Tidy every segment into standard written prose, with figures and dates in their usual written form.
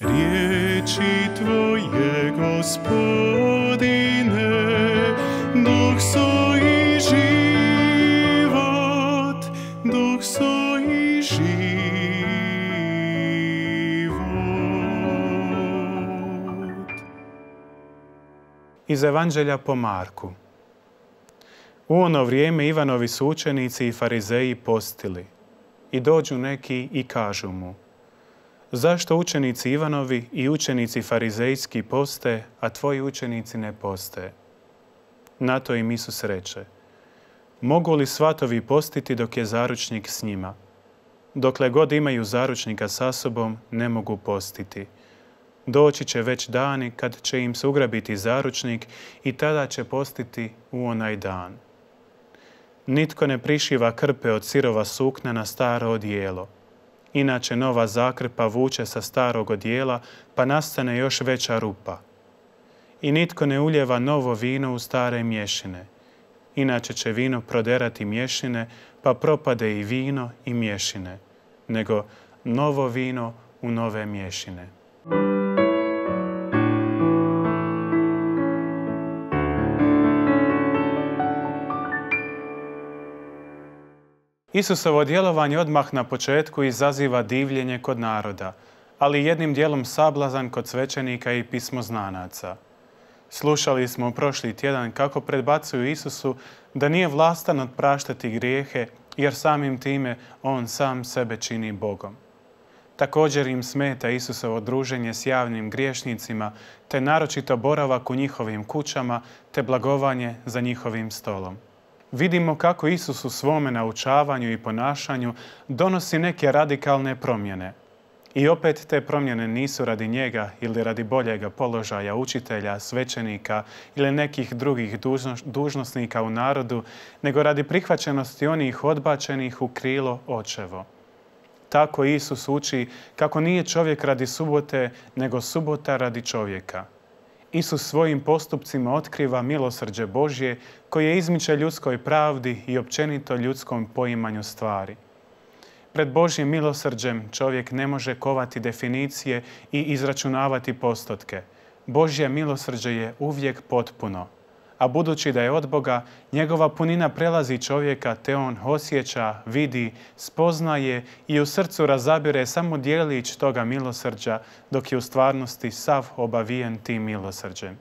Riječi Tvoje, Gospodine, duh su i život, duh su i život. Iz Evanđelja po Marku. U ono vrijeme Ivanovi su učenici i farizeji postili. I dođu neki i kažu mu: zašto učenici Ivanovi i učenici farizejski poste, a tvoji učenici ne poste? Na to im Isus reče: mogu li svatovi postiti dok je zaručnik s njima? Dokle god imaju zaručnika sa sobom, ne mogu postiti. Doći će već dani kad će im se ugrabiti zaručnik i tada će postiti u onaj dan. Nitko ne prišiva krpe od sirova sukna na staro odijelo. Inače nova zakrpa vuče sa starog odijela, pa nastane još veća rupa. I nitko ne uljeva novo vino u stare mješine. Inače će vino proderati mješine, pa propade i vino i mješine, nego novo vino u nove mješine. Isusovo djelovanje odmah na početku izaziva divljenje kod naroda, ali jednim dijelom sablazan kod svećenika i pismoznanaca. Slušali smo prošli tjedan kako predbacuju Isusu da nije vlastan otpraštati grijehe, jer samim time on sam sebe čini Bogom. Također im smeta Isusovo druženje s javnim griješnicima, te naročito boravak u njihovim kućama, te blagovanje za njihovim stolom. Vidimo kako Isus u svome naučavanju i ponašanju donosi neke radikalne promjene. I opet te promjene nisu radi njega ili radi boljega položaja učitelja, svećenika ili nekih drugih dužnosnika u narodu, nego radi prihvaćenosti onih odbačenih u krilo očevo. Tako Isus uči kako nije čovjek radi subote, nego subota radi čovjeka. Isus svojim postupcima otkriva milosrđe Božje koje izmiče ljudskoj pravdi i općenito ljudskom poimanju stvari. Pred Božjim milosrđem čovjek ne može kovati definicije i izračunavati postotke. Božje milosrđe je uvijek potpuno. A budući da je od Boga, njegova punina prelazi čovjeka te on osjeća, vidi, spoznaje i u srcu razabire samo djelić toga milosrđa, dok je u stvarnosti sav obavijen tim milosrđem.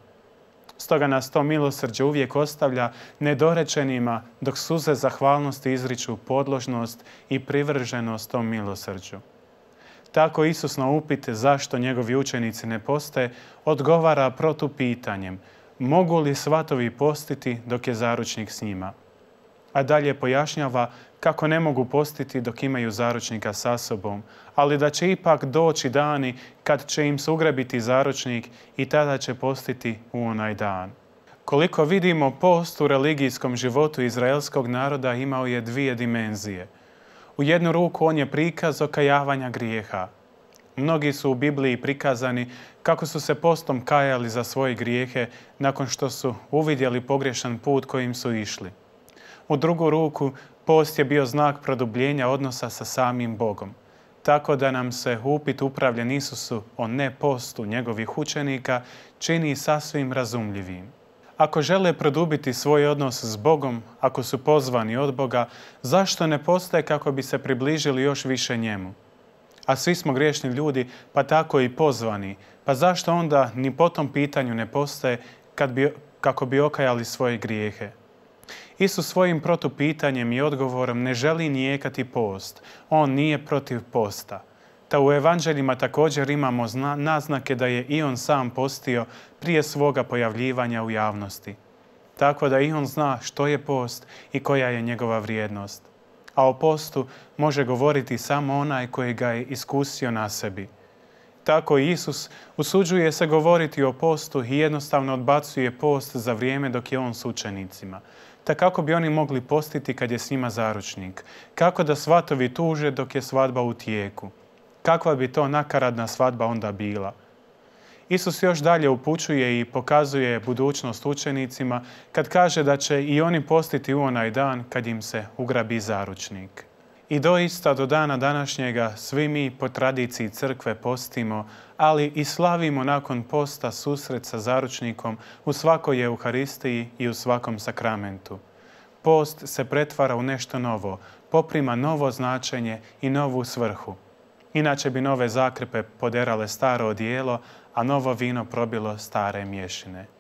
Stoga nas to milosrđe uvijek ostavlja nedorečenima, dok suze zahvalnosti izriču podložnost i privrženost tom milosrđu. Tako Isus na upit zašto njegovi učenici ne poste odgovara protupitanjem: mogu li svatovi postiti dok je zaručnik s njima? A dalje pojašnjava kako ne mogu postiti dok imaju zaručnika sa sobom, ali da će ipak doći dani kad će im se ugrabiti zaručnik i tada će postiti u onaj dan. Koliko vidimo, post u religijskom životu izraelskog naroda imao je dvije dimenzije. U jednu ruku on je prikaz okajavanja grijeha. Mnogi su u Bibliji prikazani kako su se postom kajali za svoje grijehe nakon što su uvidjeli pogrešan put kojim su išli. U drugu ruku, post je bio znak produbljenja odnosa sa samim Bogom. Tako da nam se upit upravljen Isusu o nepostu njegovih učenika čini sasvim razumljivim. Ako žele produbiti svoj odnos s Bogom, ako su pozvani od Boga, zašto ne poste kako bi se približili još više njemu? A svi smo griješni ljudi, pa tako i pozvani. Pa zašto onda ni po tom pitanju ne postaje kako bi okajali svoje grijehe? Isus svojim protupitanjem i odgovorom ne želi nijekati post. On nije protiv posta. Ta u evanđeljima također imamo naznake da je i on sam postio prije svoga pojavljivanja u javnosti. Tako da i on zna što je post i koja je njegova vrijednost. A o postu može govoriti samo onaj koji ga je iskusio na sebi. Tako i Isus usuđuje se govoriti o postu i jednostavno odbacuje post za vrijeme dok je on s učenicima. Ta kako bi oni mogli postiti kad je s njima zaručnik? Kako da svatovi tuže dok je svadba u tijeku? Kakva bi to nakaradna svadba onda bila? Isus još dalje upućuje i pokazuje budućnost učenicima kad kaže da će i oni postiti u onaj dan kad im se ugrabi zaručnik. I doista do dana današnjega svi mi po tradiciji crkve postimo, ali i slavimo nakon posta susret sa zaručnikom u svakoj Euharistiji i u svakom sakramentu. Post se pretvara u nešto novo, poprima novo značenje i novu svrhu. Inače bi nove zakrpe poderale staro odijelo, a novo vino probilo stare mješine.